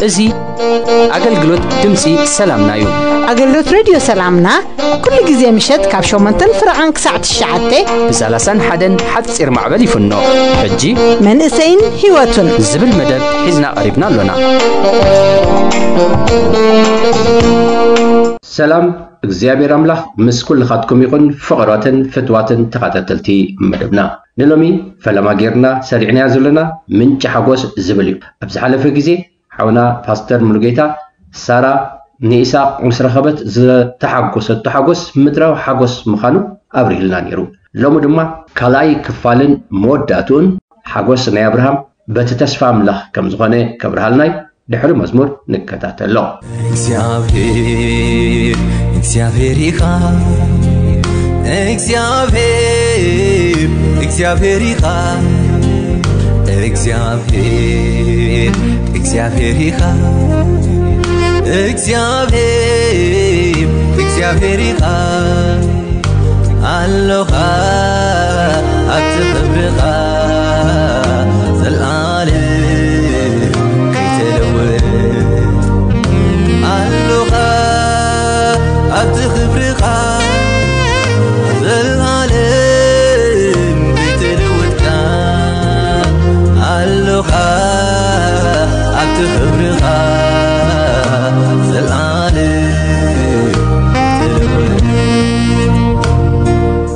እዚ ኣገልግሎት ድምፂ ሰላምና እዩ። ኣገልግሎት ሬድዮ ሰላምና ኩሉ ግዜ ምሸት ካብ ሸሞንተን ፍረቓን ክሳዕ ትሽዓተ ብ ሰላሳን ሓደን ሓፂር ማዕበል ይፍኖ። ሕጂ መንእሰይን ህይወቱን ዝብል መደብ ሒዝና ቀሪብና ኣሎና። ሰላም እግዚኣብሔር ኣምላኽ ምስ ኩልኻትኩም ይኹን። ፍቕሯትን ፍትዋትን ተኸታተልቲ መደብና፣ ንሎሚ ፈለማ ጌርና ሰሪዕናያ ዘለና ምንጪ ሓጎስ ዝብል እዩ። ኣብ ዝሓለፈ ግዜ ሓውና ፓስተር ሙሉጌታ ሳራ ንኢሳቅ ምስ ረኸበት ዝተሓጎሰቶ ሓጎስ ምድራዊ ሓጎስ ምዃኑ ኣብሪህልና ነይሩ። ሎሚ ድማ ካልኣይ ክፋልን መወዳእትኡን ሓጎስ ናይ ኣብርሃም በቲ ተስፋ ኣምላኽ ከም ዝኾነ ከብርሃልና እዩ። ድሕሪ መዝሙር ንከታተሎ። እግዚኣብሔር እግዚኣብሔር ኢኻ። እግዚኣብሔር እግዚኣብሔር ኢኻ። እግዚኣብሔር እግዚኣብሔር ኢኻ። እግዚኣብሔር እግዚኣብሔር ኢኻ። ኣሎኻ ኣብቲ ክብርኻ ዘልኣለም ከይተለወጥ። ኣሎኻ ኣብቲ ክብርኻ ዘልኣለም ከይተለወጥካ። ኣሎኻ ኣብቲ ክብርኻ ዘልኣለም ከይተለወጥ።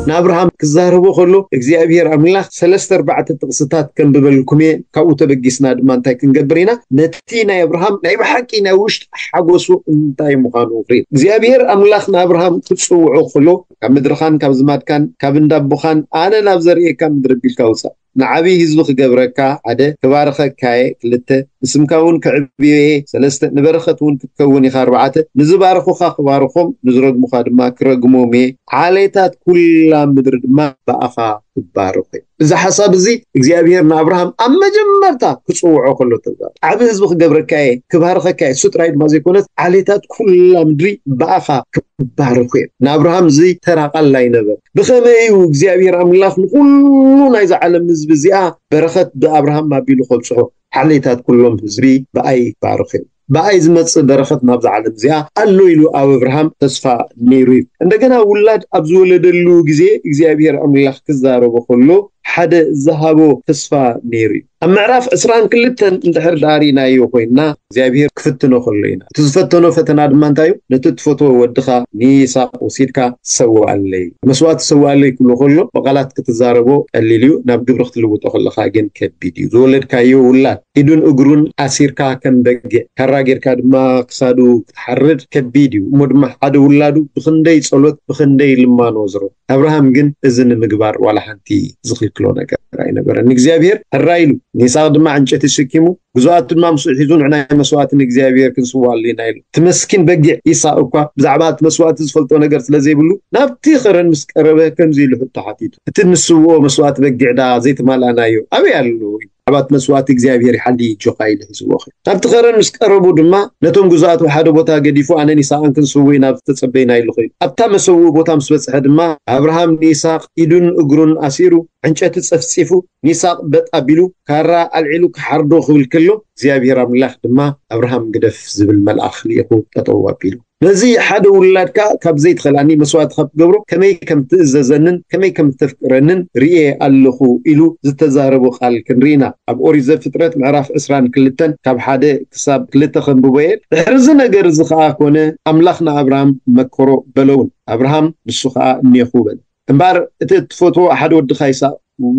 ንኣብርሃም ክዛረቦ ከሎ እግዚኣብሔር ኣምላኽ ሰለስተ ኣርባዕተ ጥቕስታት ከንብበልኩም እየ። ካብኡ ተበጊስና ድማ እንታይ ክንገብር ኢና? ነቲ ናይ ኣብርሃም ናይ ብሓቂ ናይ ውሽጢ ሓጎሱ እንታይ ምዃኑ ንርኢ። እግዚኣብሔር ኣምላኽ ንኣብርሃም ክጽውዖ ከሎ ካብ ምድርኻን ካብ ዝማድካን ካብ እንዳቦኻን ኣነ ናብ ዘርእየካ ምድሪ ቢልካ ውጻእ። ንዓብዪ ህዝቢ ክገብረካ፣ ሓደ፣ ክባርኸካ እየ፣ ክልተ፣ ንስምካ እውን ከዕብዮ እየ፣ ሰለስተ፣ ንበረኸት እውን ክትከውን ኢኻ፣ ኣርባዕተ፣ ንዝባርኹኻ ክባርኾም፣ ንዝረግሙኻ ድማ ክረግሞም እየ፣ ዓሌታት ኩላ ምድሪ ድማ ብኣኻ ክባረኹ እዮም። እዚ ሓሳብ እዚ እግዚኣብሔር ንኣብርሃም ኣብ መጀመርታ ክጽውዖ ከሎ ተዛረበ። ዓቢ ህዝቢ ክገብረካ እየ፣ ክባርኸካ እየ፣ እሱ ጥራይ ድማ ዘይኮነስ ዓሌታት ኩላ ምድሪ ብኣኻ ክባረኹ እዮም። ንኣብርሃም እዚ ተራ ቃል ኣይነበረ። ብኸመይ እዩ እግዚኣብሔር ኣምላኽ ንኹሉ ናይዛ ዓለም ህዝቢ እዚኣ በረኸት ብኣብርሃም ኣቢሉ ከብጽሖ? ዓሌታት ኩሎም ህዝቢ ብኣይ ይባረኹ እዮም። ብኣይ ዝመጽእ በረኸት ናብዛ ዓለም እዚኣ ኣሎ ኢሉ ኣብ ኣብርሃም ተስፋ ነይሩ እዩ። እንደገና ውላድ ኣብ ዝወለደሉ ግዜ እግዚኣብሔር ኣምላኽ ክዛረቦ ከሎ ሓደ ዝሃቦ ተስፋ ነይሩ እዩ። ኣብ ምዕራፍ ዕስራን ክልተን እንድሕር ደኣ ርኢናዮ ኮይንና እግዚኣብሔር ክፍትኖ ከሎ ኢና። እቲ ዝፈተኖ ፈተና ድማ እንታይ እዩ? ነቲ እትፈትዎ ወድኻ ንይስሓቅ ወሲድካ ሰውኣለይ፣ መስዋእቲ ሰውኣለይ ክብሎ ከሎ ብቓላት ክትዛረቦ ቀሊል እዩ፣ ናብ ግብሪ ክትልውጦ ከለኻ ግን ከቢድ እዩ። ዝወለድካዮ ውላድ ኢዱን እግሩን ኣሲርካ ከም በጊዕ ካራ ጌርካ ድማ ክሳዱ ክትሓርድ ከቢድ እዩ። እሞ ድማ ሓደ ውላዱ ብኽንደይ ጸሎት ብኽንደይ ልማኖ ዝረኽቦ። ኣብርሃም ግን እዚ ንምግባር ዋላ ሓንቲ ዝኽልክሎ ነገር ኣይነበረን። ንእግዚኣብሔር ሕራይ ኢሉ ንይስሓቅ ድማ ዕንጨይቲ ተሸኪሙ ግዙኣቱ ድማ ምስኡ ሒዙ ንዕና መስዋእቲ ንእግዚኣብሔር ክንስውኣሉ ኢና ኢሉ። እቲ መስኪን በጊዕ ይስሓቅ እኳ ብዛዕባ እቲ መስዋእቲ ዝፈልጦ ነገር ስለ ዘይብሉ ናብቲ ኸረን ምስ ቀረበ ከምዚ ኢሉ ሕቶ ሓቲቱ፣ እቲ ንስውኦ መስዋእቲ በጊዕ ደኣ ዘይተማልኣናዮ ኣበይ ኣሎ? ብዛዕባ እቲ መስዋእቲ እግዚኣብሔር ይሓሊ ጆኻ ኢሉ ሒዝዎ ኸይዱ። ናብቲ ኸረን ምስ ቀረቡ ድማ ነቶም ግዙኣት ኣብ ሓደ ቦታ ገዲፉ ኣነን ይስሓቅን ክንስውእ ኢና ኣብዚ ተጸበይና ኢሉ ኸይዱ። ኣብታ መሰውኢ ቦታ ምስ በጽሐ ድማ ኣብርሃም ንይስሓቅ ኢዱን እግሩን ኣሲሩ ዕንጨቲ ጸፍጺፉ ንይስሓቅ በጥ ኣቢሉ ካራ ኣልዒሉ ክሓርዶ ክብል ከሎ እግዚኣብሔር ኣምላኽ ድማ ኣብርሃም ግደፍ ዝብል መልኣኽ ልኢኹ ጠጠው ኣቢሉ ነዚ ሓደ ውላድካ ካብ ዘይትኸልኣኒ መስዋእቲ ካብ ትገብሮ ከመይ ከም ትእዘዘንን ከመይ ከም ተፍቅረንን ርኤ ኣለኹ ኢሉ ዝተዛረቦ ቃል ክንርኢ ኢና። ኣብ ኦሪት ዘፍጥረት ምዕራፍ ዕስራን ክልተን ካብ ሓደ ክሳብ ክልተ ከንብቦ እየ። ድሕሪ እዚ ነገር እዚ ኸኣ ኮነ፣ ኣምላኽ ንኣብርሃም መከሮ በለውን። ኣብርሃም ንሱ ኸኣ እኔኹ በለ። እምበኣር እቲ እትፈትዎ ሓደ ወድኻ ይስሓቅ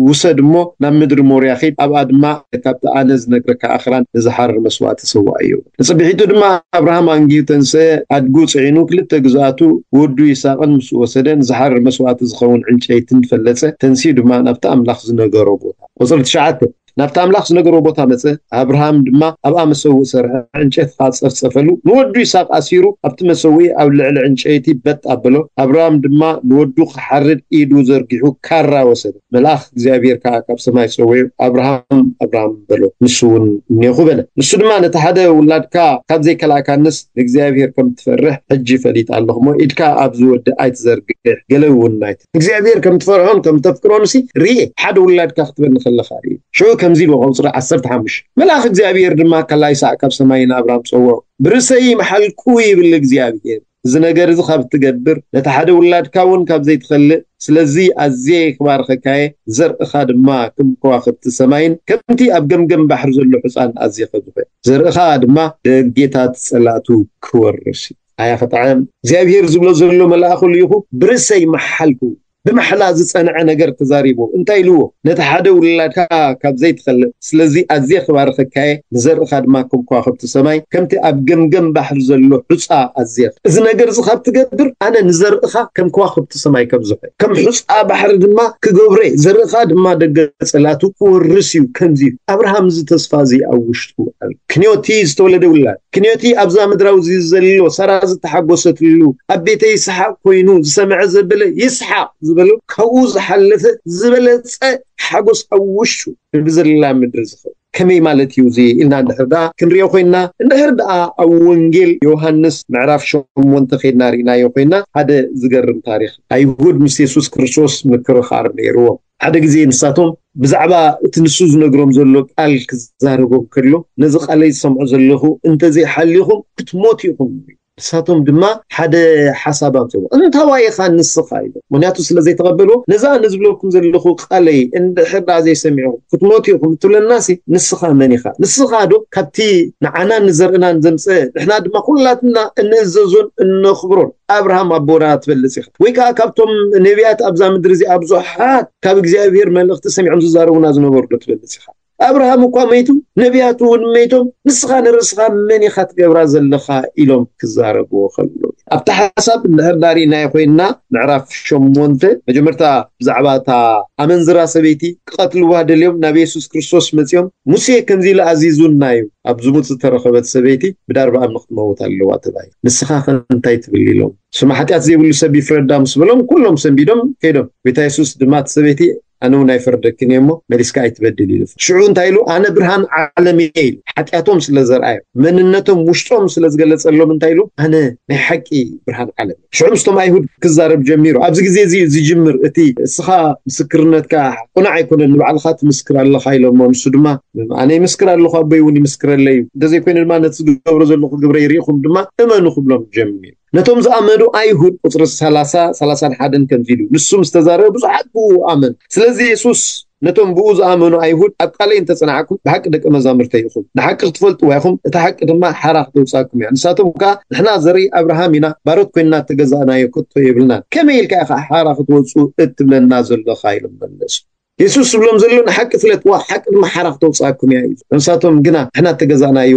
ውሰድ እሞ ናብ ምድሪ ሞርያ ኺድ፣ ኣብኣ ድማ ካብቲ ኣነ ዝነግረካ ኣኽራን ንዝሓርር መስዋእቲ ሰውኣዮ። ንጽብሒቱ ድማ ኣብርሃም ኣንጊሁ ተንስአ፣ ኣድጉ ጽዒኑ፣ ክልተ ግዙኣቱ፣ ወዱ ይስሓቅን ምስ ወሰደ፣ ንዝሓርር መስዋእቲ ዝኸውን ዕንጨይትን ፈለጸ። ተንሲኡ ድማ ናብቲ ኣምላኽ ዝነገሮ ቦታ። ቁጽሪ ትሽዓተ፣ ናብቲ ኣምላኽ ዝነገሮ ቦታ መጸ። ኣብርሃም ድማ ኣብኣ መሰውእ ሰርሐ፣ ዕንጨይቲ ከኣ ጸፍጸፈሉ። ንወዱ ይስሓቅ ኣሲሩ ኣብቲ መሰውኢ ኣብ ልዕሊ ዕንጨይቲ በጥ ኣበሎ። ኣብርሃም ድማ ንወዱ ክሓርድ ኢዱ ዘርጊሑ ካራ ወሰደ። መልኣኽ እግዚኣብሔር ከኣ ካብ ሰማይ ጸዊዑ፣ "ኣብርሃም፣ ኣብርሃም" በሎ። ንሱ እውን "እኔኹ" በለ። ንሱ ድማ "ነቲ ሓደ ውላድካ ካብ ዘይከላእካንስ ንእግዚኣብሔር ከም ትፈርሕ ሕጂ ፈሊጠ ኣለኹ እሞ፣ ኢድካ ኣብዚ ወዲ ኣይትዘርግሕ፣ ገለ እውን ኣይት-" እግዚኣብሔር ከም ትፈርሖን ከም ተፍቅሮንሲ ርኤ፣ ሓደ ውላድካ ክትበኒ ከለኻ ርኤ። ሽዑ ከምዚ ኢሉ ቁጽሪ ዓሰርተ ሓሙሽተ፣ መልኣኽ እግዚኣብሔር ድማ ከላ ይስሓቅ ካብ ሰማይ ንኣብርሃም ጸውዖ፣ "ብርእሰይ መሓልኩ ይብል እግዚኣብሔር፣ እዚ ነገር እዚ ካብ እትገብር፣ ነቲ ሓደ ውላድካ እውን ካብ ዘይትኸልእ፣ ስለዚ ኣዝየ ክባርኸካየ፣ ዘርእኻ ድማ ከም ከዋኽብቲ ሰማይን ከምቲ ኣብ ገምገም ባሕሪ ዘሎ ሑጻን ኣዝየ ከብዝሖ፣ ዘርእኻ ድማ ደጌታት ጸላእቱ ክወርስ እዩ።" ኣያ ክጥዕም! እግዚኣብሔር ዝብሎ ዘሎ መልኣኹ ልኢኹ፣ "ብርእሰይ መሓልኩ"፣ ብማሕላ ዝጸንዐ ነገር ተዛሪቡ። እንታይ ኢልዎ? "ነቲ ሓደ ውላድካ ካብ ዘይትኸልእ፣ ስለዚ ኣዝየ ክባርኸካየ፣ ንዘርእኻ ድማ ከም ከዋኽብቲ ሰማይ፣ ከምቲ ኣብ ገምገም ባሕሪ ዘሎ ሑጻ ኣዝየ። እዚ ነገር እዚ ካብ ትገብር፣ ኣነ ንዘርእኻ ከም ከዋኽብቲ ሰማይ ከብዝሖ፣ ከም ሑጻ ባሕሪ ድማ ክገብሮ፣ ዘርእኻ ድማ ደገ ጸላቱ ክወርስ እዩ። ከምዚ እዩ። ኣብርሃም እዚ ተስፋ እዚ ኣብ ውሽጡ ኣሎ። ክንዮቲ ዝተወለደ ውላድ፣ ክንዮቲ ኣብዛ ምድራዊ እዚ ዘሎ፣ ሳራ ዝተሓጎሰትሉ፣ ኣብ ቤተይ ይስሓቅ ኮይኑ ዝሰምዐ ዘበለ ይስሓቅ ዝበሎ፣ ካብኡ ዝሓለፈ ዝበለጸ ሓጎስ ኣብ ውሽጡ ብዘላ ምድሪ ዝኸውን ከመይ ማለት እዩ እዚ ኢልና እንድሕር ደኣ ክንሪኦ ኮይንና፣ እንድሕር ደኣ ኣብ ወንጌል ዮሃንስ ምዕራፍ ሸሞንተ ኬድና ርኢናዮ ኮይንና፣ ሓደ ዝገርም ታሪኽ። ኣይሁድ ምስ የሱስ ክርስቶስ ምክርኻር ነይርዎም። ሓደ ግዜ ንሳቶም ብዛዕባ እቲ ንሱ ዝነግሮም ዘሎ ቃል ክዛረቦም ከሎ፣ "ነዚ ቃለይ ዝሰምዖ ዘለኹ እንተዘይሓሊኹም ክትሞቱ ኢኹም" ይብል። ንሳቶም ድማ ሓደ ሓሳብ ኣምጽእዎ። "እንታዋይ ኢኻ ንስኻ?" ኢሎም። ምኽንያቱ ስለ ዘይተቐበልዎ፣ "ነዛ ንዝብለኩም ዘለኹ ቃለይ እንድሕር ደኣ ዘይሰሚዕኹም ክትሞቱ ኢኹም እትብለናሲ፣ ንስኻ መን ኢኻ? ንስኻ ዶ ካብቲ ንዓናን ንዘርእናን ዘምጽአ፣ ንሕና ድማ ኩላትና እንእዘዞን እነኽብሮን ኣብርሃም ኣቦና ትበልጽ ኢኻ? ወይ ከኣ ካብቶም ነቢያት ኣብዛ ምድሪ እዚኣ ብዙሓት ካብ እግዚኣብሔር መልእኽቲ ሰሚዖም ዝዛረቡና ዝነበሩ ዶ ትበልጽ ኢኻ? ኣብርሃም እኳ መይቱ፣ ነቢያቱ እውን መይቶም፣ ንስኻ ንርእስኻ መን ኢኻ ትገብራ ዘለኻ?" ኢሎም ክዛረብዎ ከለዉ። ኣብቲ ሓሳብ እንድሕር ዳሪእናዮ ኮይንና፣ ምዕራፍ ሸሞንተ፣ መጀመርታ ብዛዕባ እታ ኣመንዝራ ሰበይቲ ክቐትልዋ ደልዮም ናብ የሱስ ክርስቶስ መጺኦም፣ "ሙሴ ከምዚ ኢሉ ኣዚዙና እዩ፣ ኣብ ዝሙት ዝተረኸበት ሰበይቲ ብዳርባ እምኒ ክትመውት ኣለዋ" ተባሂሉ። "ንስኻ ኸ እንታይ ትብል?" ኢሎም። "ስሙ ሓጢኣት ዘይብሉ ሰብ ይፍረዳ" ምስ በሎም፣ ኩሎም ሰንቢዶም ከይዶም። ጎይታ የሱስ ድማ፣ "እቲ ሰበይቲ ኣነ እውን ኣይፈርደክን እየ እሞ መሊስካ ኣይትበድል" ኢሉ። ሽዑ እንታይ ኢሉ? "ኣነ ብርሃን ዓለም እየ" ኢሉ። ሓጢኣቶም ስለ ዘርኣዮም፣ መንነቶም ውሽጦም ስለ ዝገለጸሎም እንታይ ኢሉ? "ኣነ ናይ ሓቂ ብርሃን ዓለም እየ።" ሽዑ ምስቶም ኣይሁድ ክዛረብ ጀሚሩ። ኣብዚ ግዜ እዚ እዩ ዝጅምር እቲ፣ "እስኻ ምስክርነትካ ቅኑዕ ኣይኮነን፣ ንባዕልኻ ትምስክር ኣለኻ" ኢሎሞ። ንሱ ድማ፣ "ኣነ ይምስክር ኣለኹ፣ ኣቦይ እውን ይምስክረለይ እዩ። እንተዘይኮይኑ ድማ ነቲ ዝገብሮ ዘለኹ ግብረይ ርኢኹም ድማ እመኑ" ክብሎም ጀሚሩ። ነቶም ዝኣመኑ ኣይሁድ፣ ቁጽሪ ሰላሳ፣ ሰላሳን ሓደን ከምዚ ኢሉ፣ ንሱ ምስ ተዛረበ ብዙሓት ብኡ ኣመኑ። ስለዚ የሱስ ነቶም ብኡ ዝኣመኑ ኣይሁድ፣ "ኣብ ቃለይ እንተጸናዕኩም ብሓቂ ደቀ መዛሙርተይ ኢኹም። ንሓቂ ክትፈልጥዋ ኢኹም፣ እታ ሓቂ ድማ ሓራ ክተውጽኣኩም እያ። ንሳቶም ከኣ፣ ንሕና ዘርኢ ኣብርሃም ኢና፣ ባሮት ኮይንና እተገዛእናዮ ከቶ የብልናን። ከመይ ኢልካ ኢኻ ሓራ ክትወጹ እትብለና ዘለኻ?" ኢሎም መለሱ። የሱስ ዝብሎም ዘሎ፣ "ንሓቂ ፍለጥዋ፣ ሓቂ ድማ ሓራ ክተውጽኣኩም እያ" ኢሉ። ንሳቶም ግና፣ "ንሕና እተገዛእናዮ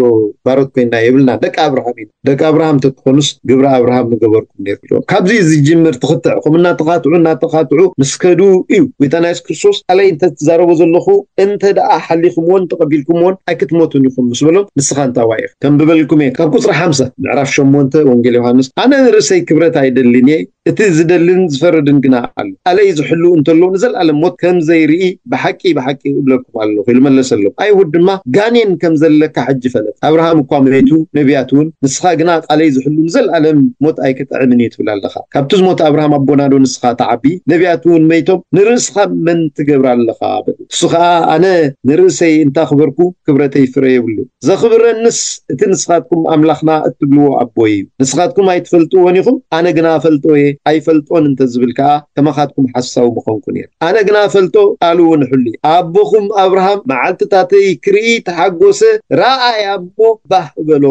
ባሮት ኮይንና የብልናን፣ ደቂ ኣብርሃም ኢና። ደቂ ኣብርሃም እንተትኾኑስ ግብሪ ኣብርሃም ምገበርኩም ነይሩ" ኢሎም። ካብዚ ዝጅምር ትኽትዕ፣ ከምኡ እናተኻትዑ፣ እናተኻትዑ ምስ ከዱ እዩ ጎይታና የሱስ ክርስቶስ፣ "ቃለይ እንተ ትዛረቦ ዘለኹ እንተ ደኣ ሓሊኹምዎን ተቐቢልኩምዎን ኣይክትሞቱን ኢኹም" ምስ በሎም፣ "ንስኻ እንታዋይ ኢኻ? ከንብበልኩም እየ። ካብ ቁጽሪ ሓምሳ፣ ምዕራፍ ሸሞንተ ወንጌል ዮሃንስ፣ ኣነ ንርእሰይ ክብረት ኣይደልን እየ፣ እቲ ዝደልን ዝፈርድን ግና ኣሎ። ቃለይ ዝሕሉ እንተሎ ንዘለኣለም ሞት ከም ዘይርኢ ብሓቂ፣ ብሓቂ እብለኩም ኣለኹ" ኢሉ መለሰሎም። ኣይሁድ ድማ፣ "ጋኔን ከም ዘለካ ሕጂ ፈለጥ። ኣብርሃም እኳ መይቱ፣ ነቢያት እውን፣ ንስኻ ግና ቃለይ ዝሕሉ ንዘለኣለም ሞት ኣይክጥዕምን እዩ ትብል ኣለኻ። ካብቲ ዝሞተ ኣብርሃም ኣቦና ዶ ንስኻ ትዓቢ? ነቢያት እውን መይቶም፣ ንርእስኻ መን ትገብር ኣለኻ?" በሉ። እሱ ኸኣ፣ "ኣነ ንርእሰይ እንታኽበርኩ፣ ክብረተይ ፍረ የብሉ። ዘኽብረንስ እቲ ንስኻትኩም ኣምላኽና እትብልዎ ኣቦይ እዩ። ንስኻትኩም ኣይትፈልጥዎን ኢኹም፣ ኣነ ግና እፈልጦ እየ። ኣይፈልጦን እንተ ዝብል ከኣ፣ ከማኻትኩም ሓሳዊ ምኾንኩ ነይረ። ኣነ ግና እፈልጦ፣ ቃሉ እውን እሕሉ እየ። ኣቦኹም ኣብርሃም መዓልትታተይ ክርኢ ተሓጎሰ፣ ረኣያ እሞ ባህ በሎ"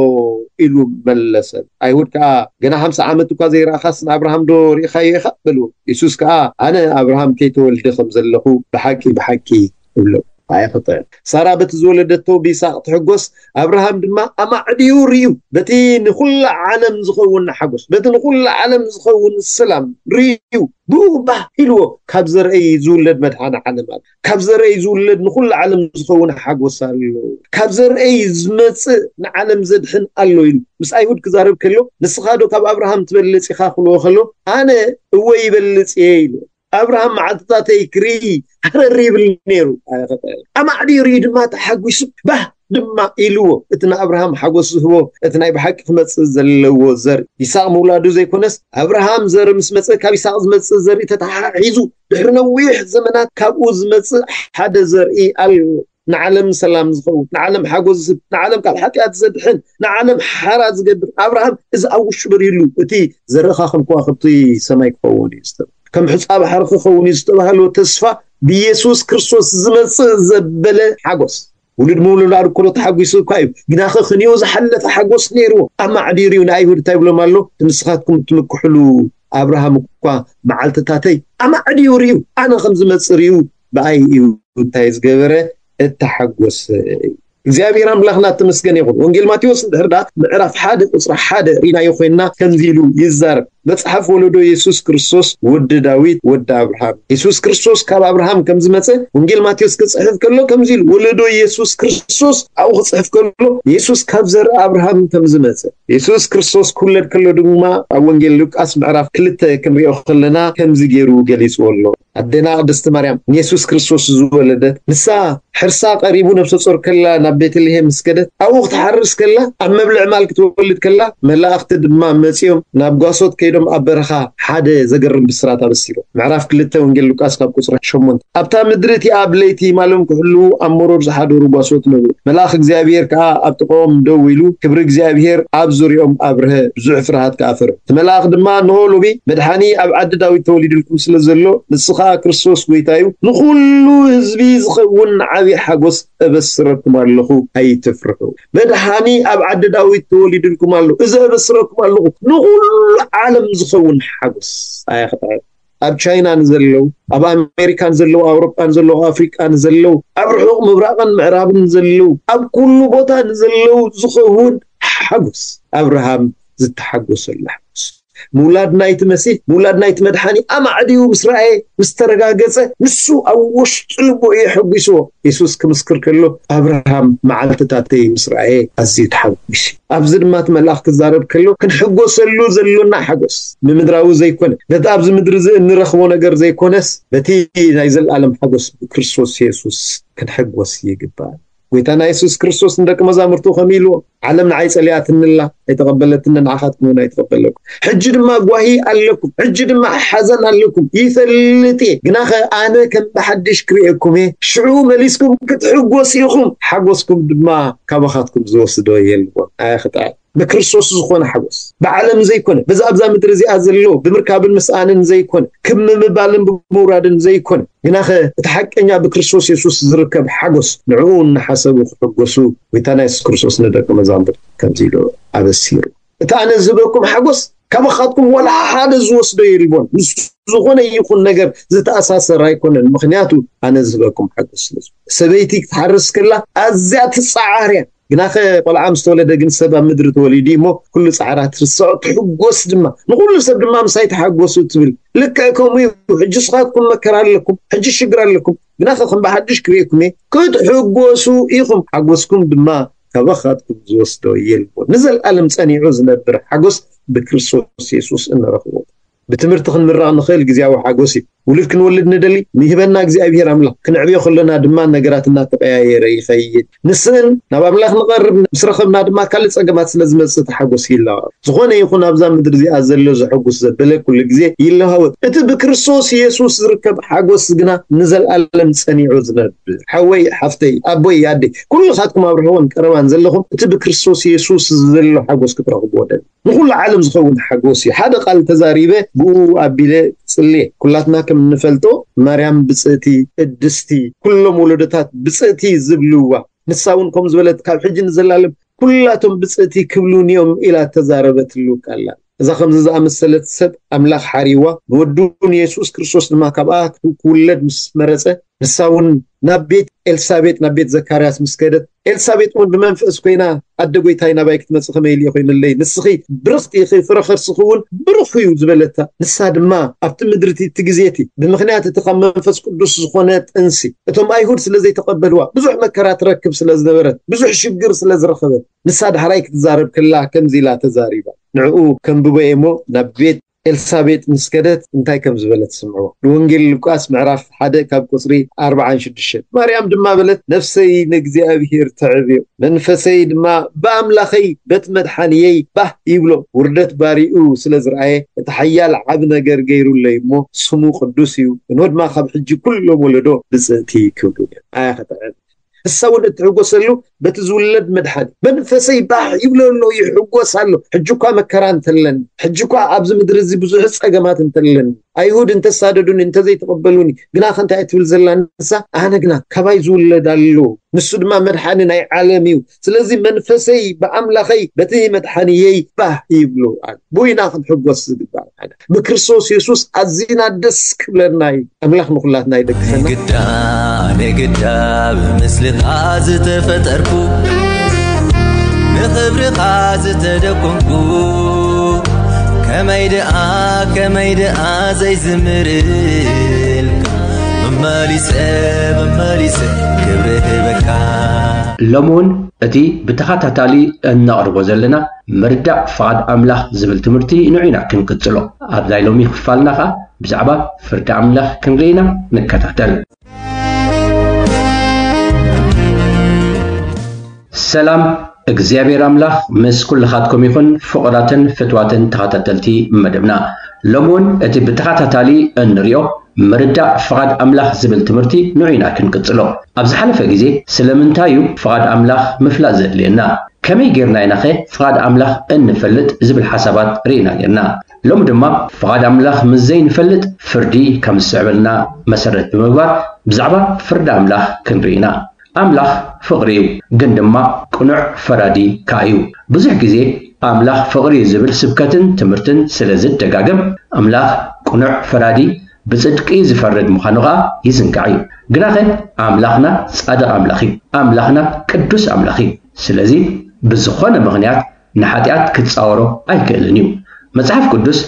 ኢሉ መለሰ። ኣይሁድ ከኣ፣ "ገና ሓምሳ ዓመት እኳ ዘይረኣኻስ ንኣብርሃም ዶ ርኢኻዮ ኢኻ?" በልዎ። የሱስ ከኣ፣ "ኣነ ኣብርሃም ከይተወልደ ከም ዘለኹ ብሓቂ፣ ብሓቂ እብሎ" ኣይኽጥዕን። ሳራ በቲ ዝወለደቶ ብይስሐቅ ትሕጎስ፣ ኣብርሃም ድማ ኣማዕድዩ ርእዩ፣ በቲ ንኹላ ዓለም ዝኸውን ሓጎስ፣ በቲ ንኹላ ዓለም ዝኸውን ሰላም ርእዩ፣ ብኡ ባህ ኢልዎ። ካብ ዘርእይ ዝውለድ መድሓኒ ዓለም ኣሎ፣ ካብ ዘርእይ ዝውለድ ንኹላ ዓለም ዝኸውን ሓጎስ ኣሎ፣ ካብ ዘርእይ ዝመጽእ ንዓለም ዘድሕን ኣሎ ኢሉ ምስ ኣይሁድ ክዛረብ ከሎ፣ ንስኻ ዶ ካብ ኣብርሃም ትበልጽ ኢኻ ክብልዎ ከሎ፣ ኣነ እወ ይበልጽ እየ ኢሉ። ኣብርሃም መዓልትታተይ ክርኢ ሃረር ይብል ነይሩ። ኣማዕድዩ ርእዩ ድማ ተሓጒሱ፣ ባህ ድማ ኢልዎ። እቲ ንኣብርሃም ሓጎስ ዝህቦ፣ እቲ ናይ ብሓቂ ክመጽእ ዘለዎ ዘር ይስሐቅ ምውላዱ ዘይኮነስ፣ ኣብርሃም ዘር ምስ መጸ፣ ካብ ይስሐቅ ዝመጽእ ዘርኢ ተተሓሒዙ፣ ድሕሪ ነዊሕ ዘመናት ካብኡ ዝመጽእ ሓደ ዘርኢ ኣሎ። ንዓለም ሰላም ዝኸውን፣ ንዓለም ሓጎስ ዝህብ፣ ንዓለም ካብ ሓጢኣት ዘድሕን፣ ንዓለም ሓራ ዝገብር ኣብርሃም እዚ ኣብ ውሽጡ በሪህሉ፣ እቲ ዘርእኻ ከም ከዋኽብቲ ሰማይ ክኸውን እዩ ዝተባህለ፣ ከም ሑጻ ባሕሪ ክኸውን እዩ ዝተባህሎ ተስፋ ብኢየሱስ ክርስቶስ ዝመጽእ ዘበለ ሓጎስ። ውሉድ ምውልላድ እኮ ተሓጒሱ እኳ እዩ፣ ግናኸ ክንዮ ዝሓለፈ ሓጎስ ነይርዎ። ኣማዕዲሩ እዩ ንኣይሁድ እንታይ ይብሎም ኣሎ? ንስኻትኩም እትምክሕሉ ኣብርሃም እኳ መዓልትታተይ ኣማዕዲዩ ርእዩ፣ ኣነ ከም ዝመጽእ ርእዩ ብኣይ እዩ እንታይ ዝገበረ? እተሓጎሰ። እግዚኣብሔር ኣምላኽና ተመስገን ይኹን። ወንጌል ማቴዎስ እንድሕር ደኣ ምዕራፍ ሓደ ቁጽሪ ሓደ ርኢናዮ ኮይንና ከምዚ ኢሉ ይዛረብ። መጽሓፍ ወለዶ የሱስ ክርስቶስ ወዲ ዳዊት ወዲ ኣብርሃም። የሱስ ክርስቶስ ካብ ኣብርሃም ከም ዝመጸ ወንጌል ማቴዎስ ክጽሕፍ ከሎ ከምዚ ኢሉ፣ ወለዶ የሱስ ክርስቶስ ኣብኡ ክጽሕፍ ከሎ የሱስ ካብ ዘርኢ ኣብርሃም ከም ዝመጸ። የሱስ ክርስቶስ ክውለድ ከሎ ድማ ኣብ ወንጌል ሉቃስ ምዕራፍ ክልተ ክንሪኦ ከለና ከምዚ ገይሩ ገሊጽዎ ኣሎ። ኣዴና ቅድስቲ ማርያም ንየሱስ ክርስቶስ ዝወለደት፣ ንሳ ሕርሳ ቀሪቡ ነብሰ ጾር ከላ ናብ ቤተልሔም ምስ ከደት፣ ኣብኡ ክትሓርስ ከላ፣ ኣብ መብልዕ ማል ክትወልድ ከላ፣ መላእኽቲ ድማ መጺኦም ናብ ጓሶት ከይዶም ኣብ በረኻ ሓደ ዘገርም ብስራት ኣበሲሮም። ምዕራፍ ክልተ ወንጌል ሉቃስ ካብ ቁጽሪ ሸሞንተ። ኣብታ ምድሪ እቲኣ ኣብ ለይቲ ማሎም ክሕልዉ ኣብ መሮር ዝሓደሩ ጓሶት ነበሩ። መልኣኽ እግዚኣብሔር ከኣ ኣብ ጥቕኦም ደው ኢሉ ክብሪ እግዚኣብሔር ኣብ ዙርያኦም ኣብርሀ፣ ብዙሕ ፍርሃት ከኣ ፈርሑ። እቲ መልኣኽ ድማ፣ እንሆ ሎሚ መድሓኒ ኣብ ዓዲ ዳዊት ተወሊዱልኩም ስለ ዘሎ፣ ንሱ ኸኣ ክርስቶስ ጐይታ እዩ፣ ንኹሉ ህዝቢ ዝኸውን ዓቢ ሓጎስ እበስረኩም ኣለኹ፣ ኣይትፍርሑ። መድሓኒ ኣብ ዓዲ ዳዊት ተወሊዱልኩም ኣሎ። እዚ እበስረኩም ኣለኹ፣ ንኹሉ ዓለም ዝኸውን ሓጎስ። ኣያ ኸጥዕም። ኣብ ቻይና ንዘለዉ፣ ኣብ ኣሜሪካ ንዘለዉ፣ ኣብ ኣውሮጳ ንዘለዉ፣ ኣብ ኣፍሪቃ ንዘለዉ፣ ኣብ ርሑቕ ምብራቕን ምዕራብን ንዘለዉ፣ ኣብ ኩሉ ቦታ ንዘለዉ ዝኸውን ሓጎስ፣ ኣብርሃም ዝተሓጎሰሉ ሓጎስ። ምውላድ ናይቲ መሲህ፣ ምውላድ ናይቲ መድሓኒ ኣማዕድዩ ምስ ረኣየ፣ ምስ ተረጋገጸ፣ ንሱ ኣብ ውሽጢ ልቡ እዩ ሓጒስዎ። የሱስ ክምስክር ከሎ፣ ኣብርሃም መዓልትታተይ ምስ ረኣየ ኣዝዩ ተሓጒሱ። ኣብዚ ድማ እቲ መልኣኽ ክዛረብ ከሎ፣ ክንሕጎሰሉ ዘሎና ሓጎስ፣ ብምድራዊ ዘይኮነ፣ በቲ ኣብዚ ምድሪ እዚ እንረኽቦ ነገር ዘይኮነስ፣ በቲ ናይ ዘለኣለም ሓጎስ ብክርስቶስ የሱስ ክንሕጎስ ይግባእ። ጐይታና የሱስ ክርስቶስ ንደቂ መዛሙርቱ ከምኡ ኢልዎ፣ ዓለም ንዓይ ጸሊኣትኒ ኣላ፣ ኣይተቐበለትንን፣ ንዓኻትኩም እውን ኣይትቐበለኩም። ሕጂ ድማ ጓሂ ኣለኩም፣ ሕጂ ድማ ሓዘን ኣለኩም፣ ይፈልጥ እየ። ግናኸ ኣነ ከም ብሓድሽ ክርእየኩም እየ፣ ሽዑ መሊስኩም ክትሕጎሱ ኢኹም፣ ሓጎስኩም ድማ ካባኻትኩም ዝወስዶ የልቦን። ኣያ ኽጥዕም። ብክርስቶስ ዝኾነ ሓጎስ፣ ብዓለም ዘይኮነ፣ በዛ ኣብዛ ምድሪ እዚኣ ዘሎ ብምርካብን ምስኣንን ዘይኮነ፣ ክብ ምምባልን ብምውራድን ዘይኮነ፣ ግናኸ እቲ ሓቀኛ ብክርስቶስ የሱስ ዝርከብ ሓጎስ፣ ንዕኡ እናሓሰቡ ክሕጎሱ ጐይታና የሱስ ክርስቶስ ንደቂ መዛሙርቱ ከምዚ ኢሉ ኣበሲሩ። እቲ ኣነ ዝህበኩም ሓጎስ ካባኻትኩም ዋላ ሓደ ዝወስዶ የልቦን። ምስ ዝኾነ ይኹን ነገር ዝተኣሳሰር ኣይኮነን። ምኽንያቱ ኣነ ዝህበኩም ሓጎስ ስለ ዝኾነ። ሰበይቲ ክትሓርስ ከላ ኣዝያ ትጸዓር እያ። ግናኸ ቆልዓ ምስ ተወለደ ግን ሰብ ኣብ ምድሪ ተወሊዱ እሞ ኩሉ ጻዕራ ትርስዖ፣ ትሕጎስ ድማ። ንኹሉ ሰብ ድማ ምሳይ ተሓጎሱ ትብል። ልክዕ ከምኡ እዩ። ሕጂ ንስኻትኩም መከራ ኣለኩም፣ ሕጂ ሽግር ኣለኩም። ግናኸ ከም ብሓድሽ ክርእየኩም እየ። ክትሕጎሱ ኢኹም፣ ሓጎስኩም ድማ ካባኻትኩም ዝወስዶ የልቦን። ንዘለኣለም ጸኒዑ ዝነብር ሓጎስ ብክርስቶስ የሱስ እንረኽቦ። ብትምህርቲ ክንምረቕ ንኽእል ግዜያዊ ሓጎስ እዩ። ውሉድ ክንወልድ ንደሊ፣ ንህበና እግዚኣብሔር ኣምላኽ። ክንዕብዮ ከሎና ድማ ነገራት እናተቐያየረ ይኸይድ። ንስእን ናብ ኣምላኽ ንቐርብ፣ ምስ ረኸብና ድማ ካልእ ጸገማት ስለ ዝመጽእ እቲ ሓጎስ ይለዋወጥ። ዝኾነ ይኹን ኣብዛ ምድሪ እዚኣ ዘሎ ዘሐጉስ ዘበለ ኩሉ ግዜ ይለዋወጥ። እቲ ብክርስቶስ የሱስ ዝርከብ ሓጎስ ግና ንዘለኣለም ጸኒዑ ዝነብር። ሓወይ፣ ሓፍተይ፣ ኣቦይ፣ ኣደይ፣ ኩልኻትኩም ኣብ ርሑቕን ቀረባን ዘለኹም እቲ ብክርስቶስ የሱስ ዘሎ ሓጎስ ክትረኽብዎ ደሊ። ንኹሉ ዓለም ዝኸውን ሓጎስ እዩ። ሓደ ቃል ተዛሪበ፣ ብኡ ኣቢለ ጽልየ። ኩላትና ከም እንፈልጦ፣ ማርያም ብጽእቲ፣ ቅድስቲ፣ ኩሎም ወለዶታት ብጽእቲ ዝብልዋ፣ ንሳ እውን ከም ዝበለት፣ ካብ ሕጂ ንዘላለም ኩላቶም ብጽእቲ ክብሉኒ እዮም ኢላ እተዛረበትሉ ቃል ኣላ። እዛ ከምዚ ዝኣመሰለት ሰብ ኣምላኽ ሓሪዋ፣ ንወዱ ንየሱስ ክርስቶስ ድማ ካብኣ ክውለድ ምስ መረጸ፣ ንሳ እውን ናብ ቤት ኤልሳቤጥ፣ ናብ ቤት ዘካርያስ ምስ ከደት፣ ኤልሳቤጥ እውን ብመንፈስ ኮይና፣ ኣደ ጎይታይ፣ ናባይ ክትመጽእ ከመይ ኢሉ ኮይኑ ኣለይ? ንስኺ ብርኽቲ ኢኺ፣ ፍረ ከርስኺ እውን ብሩኽ እዩ ዝበለታ። ንሳ ድማ ኣብቲ ምድሪ እቲ፣ እቲ ግዜ እቲ ብምኽንያት እቲ ካብ መንፈስ ቅዱስ ዝኾነ ጥንሲ እቶም ኣይሁድ ስለ ዘይተቐበልዋ ብዙሕ መከራ ትረክብ ስለ ዝነበረት፣ ብዙሕ ሽግር ስለ ዝረኸበት፣ ንሳ ዳሕራይ ክትዛረብ ከላ ከምዚ ኢላ ተዛሪባ። ንዕኡ ከንብቦ እየ እሞ ናብ ቤት ኤልሳቤጥ ምስ ከደት እንታይ ከም ዝበለት ስምዕዎ። ንወንጌል ሉቃስ ምዕራፍ ሓደ ካብ ቁጽሪ ኣርባዓን ሽዱሽተን። ማርያም ድማ በለት፣ ነፍሰይ ንእግዚኣብሔር ተዕብዮ፣ መንፈሰይ ድማ ብኣምላኸይ በቲ መድሓንየይ ባህ ይብሎ። ውርደት ባሪኡ ስለ ዝረኣየ፣ እቲ ሓያል ዓቢ ነገር ገይሩለይ እሞ፣ ስሙ ቅዱስ እዩ። እንሆ ድማ ካብ ሕጂ ኩሎም ወለዶ ብጽእቲ ክብሉ እዮም። ኣያ ኸተዕብ ንሳ እውን እትሕጎሰሉ በቲ ዝውለድ መድሓኒ። መንፈሰይ ባህ ይብሎ ኣሎ፣ ይሕጎስ ኣሎ። ሕጂ እኳ መከራ እንተለኒ፣ ሕጂ እኳ ኣብዚ ምድሪ እዚ ብዙሕ ጸገማት እንተለኒ፣ ኣይሁድ እንተሳደዱኒ፣ እንተዘይተቐበሉኒ፣ ግና ከ እንታይ ትብል ዘላ ንሳ? ኣነ ግና ካባይ ዝውለድ ኣሎ፣ ንሱ ድማ መድሓኒ ናይ ዓለም እዩ። ስለዚ መንፈሰይ ብኣምላኸይ በቲ መድሓኒየይ ባህ ይብሎ ኣሎ። ብኡ ኢና ክንሕጎስ ዝግባእ። ብክርስቶስ የሱስ ኣዚና ደስ ክብለና እዩ። ኣምላኽ ንኹላትና ይደግፈና። ግዳ ንግዳ ብምስልኻ ዝተፈጠርኩ፣ ንኽብርኻ ዝተደኮንኩ፣ ከመይ ደኣ ከመይ ደኣ ዘይዝምርልካ፣ መመሊሰ መመሊሰ ክብሪ ህበካ። ሎሚ እውን እቲ ብተኸታታሊ እነቕርቦ ዘለና ምርዳእ ፍቓድ ኣምላኽ ዝብል ትምህርቲ ንዑ ኢና ክንቅጽሎ። ኣብ ናይ ሎሚ ክፋልና ኸኣ ብዛዕባ ፍርዲ ኣምላኽ ክንርኢ ኢና። ንከታተል። ሰላም፣ እግዚኣብሔር ኣምላኽ ምስ ኩልኻትኩም ይኹን፣ ፍቑራትን ፍትዋትን ተኸታተልቲ መደብና። ሎሚ እውን እቲ ብተኸታታሊ እንሪኦ ምርዳእ ፍቓድ ኣምላኽ ዝብል ትምህርቲ ንዑ ኢና ክንቅጽሎ። ኣብ ዝሓለፈ ግዜ ስለምንታይ እዩ ፍቓድ ኣምላኽ ምፍላጥ ዘድልየና? ከመይ ጌርና ኢናኸ ፍቓድ ኣምላኽ እንፈልጥ ዝብል ሓሳባት ርኢና ኔርና። ሎሚ ድማ ፍቓድ ኣምላኽ ምስ ዘይንፈልጥ ፍርዲ ከም ዝስዕበልና መሰረት ብምግባር ብዛዕባ ፍርዲ ኣምላኽ ክንርኢ ኢና። ኣምላኽ ፍቕሪ እዩ፣ ግን ድማ ቅኑዕ ፈራዲ ከኣ እዩ። ብዙሕ ግዜ ኣምላኽ ፍቕሪ እዩ ዝብል ስብከትን ትምህርትን ስለ ዝደጋገም ኣምላኽ ቅኑዕ ፈራዲ ብጽድቂ ዝፈርድ ምዃኑ ኸኣ ይዝንጋዕ እዩ። ግናኸ ኣምላኽና ጻድቕ ኣምላኽ እዩ። ኣምላኽና ቅዱስ ኣምላኽ እዩ። ስለዚ ብዝኾነ ምኽንያት ንሓጢኣት ክጻወሮ ኣይክእልን እዩ። መጽሓፍ ቅዱስ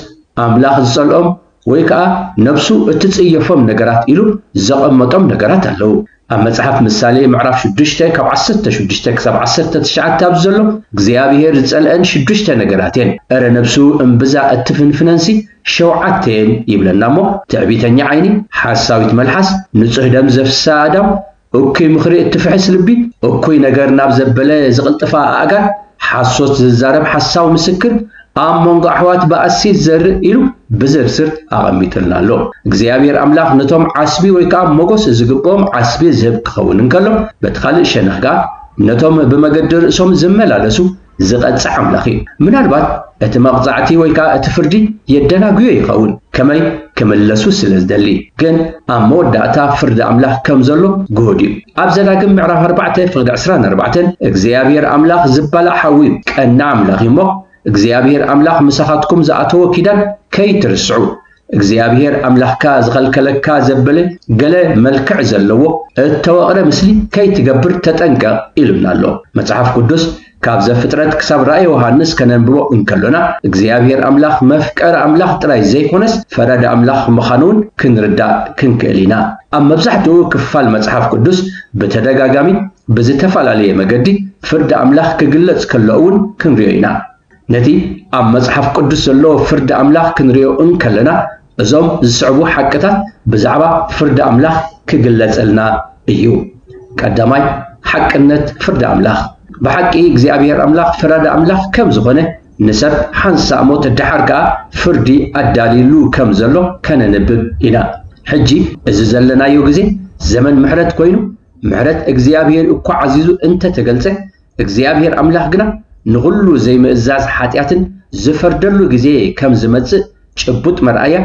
ኣምላኽ ዝጸልኦም ወይ ከኣ ነብሱ እትጽየፎም ነገራት ኢሉ ዘቐመጦም ነገራት ኣለዉ። ኣብ መጽሓፍ ምሳሌ ምዕራፍ ሽዱሽተ ካብ ዓሰርተ ሽዱሽተ ክሳብ ዓሰርተ ትሽዓተ ኣብዚ ዘሎ እግዚኣብሔር ዝጸልአን ሽዱሽተ ነገራት እየን። እረ ነብሱ እምብዛ እትፍንፍነንሲ ሸውዓተ እየን ይብለና እሞ ትዕቢተኛ ዓይኒ፣ ሓሳዊት መልሓስ፣ ንጹህ ደም ዘፍስሳ ኣእዳው፣ እኩይ ምኽሪ እትፍሕስ ልቢ፣ እኩይ ነገር ናብ ዘበለ ዝቕልጥፋ ኣእጋር፣ ሓሶት ዝዛረብ ሓሳዊ ምስክር፣ ኣብ መንጎ ኣሕዋት ባእሲ ዝዘርእ ኢሉ ብዝርዝር ኣቐሚጡልና ኣሎ። እግዚኣብሔር ኣምላኽ ነቶም ዓስቢ ወይ ከዓ ሞጎስ ዝግብኦም ዓስቢ ዝህብ ክኸውን እንከሎ፣ በቲ ካልእ ሸነኽ ከዓ ነቶም ብመገዲ ርእሶም ዝመላለሱ ዝቐጽዕ ኣምላኽ እዩ። ምናልባት እቲ መቕጻዕቲ ወይ ከዓ እቲ ፍርዲ የደናጉዮ ይኸውን፣ ከመይ ክምለሱ ስለ ዝደሊ። ግን ኣብ መወዳእታ ፍርዲ ኣምላኽ ከም ዘሎ ግሁድ እዩ። ኣብ ዘዳግም ምዕራፍ ኣርባዕተ ፍቕዲ ዕስራን ኣርባዕተን እግዚኣብሔር ኣምላኽ ዝበላዕ ሓዊ እዩ፣ ቀና ኣምላኽ እዩ እሞ እግዚኣብሔር ኣምላኽ ምሳኻትኩም ዝኣተዎ ኪዳን ከይትርስዑ፣ እግዚኣብሔር ኣምላኽካ ዝኸልከለካ ዘበለ ገለ መልክዕ ዘለዎ እተወቕረ ምስሊ ከይትገብር ተጠንቀቕ ኢሉና ኣሎ። መጽሓፍ ቅዱስ ካብ ዘፍጥረት ክሳብ ራእይ ዮሃንስ ከነንብቦ እንከሎና እግዚኣብሔር ኣምላኽ መፍቀሪ ኣምላኽ ጥራይ ዘይኮነስ ፈራዲ ኣምላኽ ምዃኑ እውን ክንርዳእ ክንክእል ኢና። ኣብ መብዛሕትኡ ክፋል መጽሓፍ ቅዱስ ብተደጋጋሚ ብዝተፈላለየ መገዲ ፍርዲ ኣምላኽ ክግለጽ ከሎ እውን ክንሪኦ ኢና። ነቲ ኣብ መጽሓፍ ቅዱስ ዘሎ ፍርዲ ኣምላኽ ክንሪኦ እንከለና እዞም ዝስዕቡ ሓቅታት ብዛዕባ ፍርዲ ኣምላኽ ክግለጸልና እዩ። ቀዳማይ፣ ሓቅነት ፍርዲ ኣምላኽ። ብሓቂ እግዚኣብሔር ኣምላኽ ፈራዲ ኣምላኽ ከም ዝኾነ ንሰብ ሓንሳእ ሞት ደሓር ከኣ ፍርዲ ኣዳልዩሉ ከም ዘሎ ከነንብብ ኢና። ሕጂ እዚ ዘለናዮ ግዜ ዘመን ምሕረት ኮይኑ ምሕረት እግዚኣብሔር እኳ ዓዚዙ እንተተገልጸ እግዚኣብሔር ኣምላኽ ግና ንኹሉ ዘይምእዛዝ ሓጢኣትን ዝፈርደሉ ግዜ ከም ዝመጽእ ጭቡጥ መርኣያ